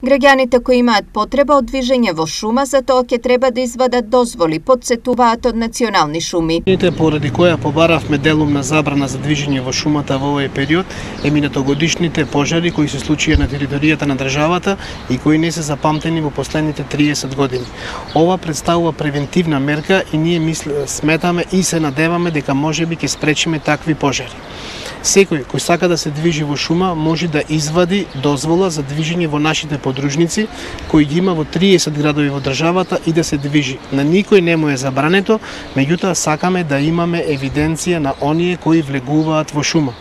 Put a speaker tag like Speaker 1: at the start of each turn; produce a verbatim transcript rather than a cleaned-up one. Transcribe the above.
Speaker 1: Граѓаните кои имаат потреба од движење во шума, за тоа ќе треба да извадат дозволи, потсетуваат од национални шуми.
Speaker 2: Поради која побаравме делумна забрана за движење во шумата во овој период е минатогодишните пожари кои се случија на територијата на државата и кои не се запамтени во последните триесет години. Ова представува превентивна мерка и ние мисле, сметаме и се надеваме дека можеби ќе спречиме такви пожари. Секој кој сака да се движи во шума може да извади дозвола за движење во нашите подружници, кои ги има во триесет градови во државата и да се движи. На никој не му е забрането, меѓутоа сакаме да имаме евиденција на оние кои влегуваат во шума.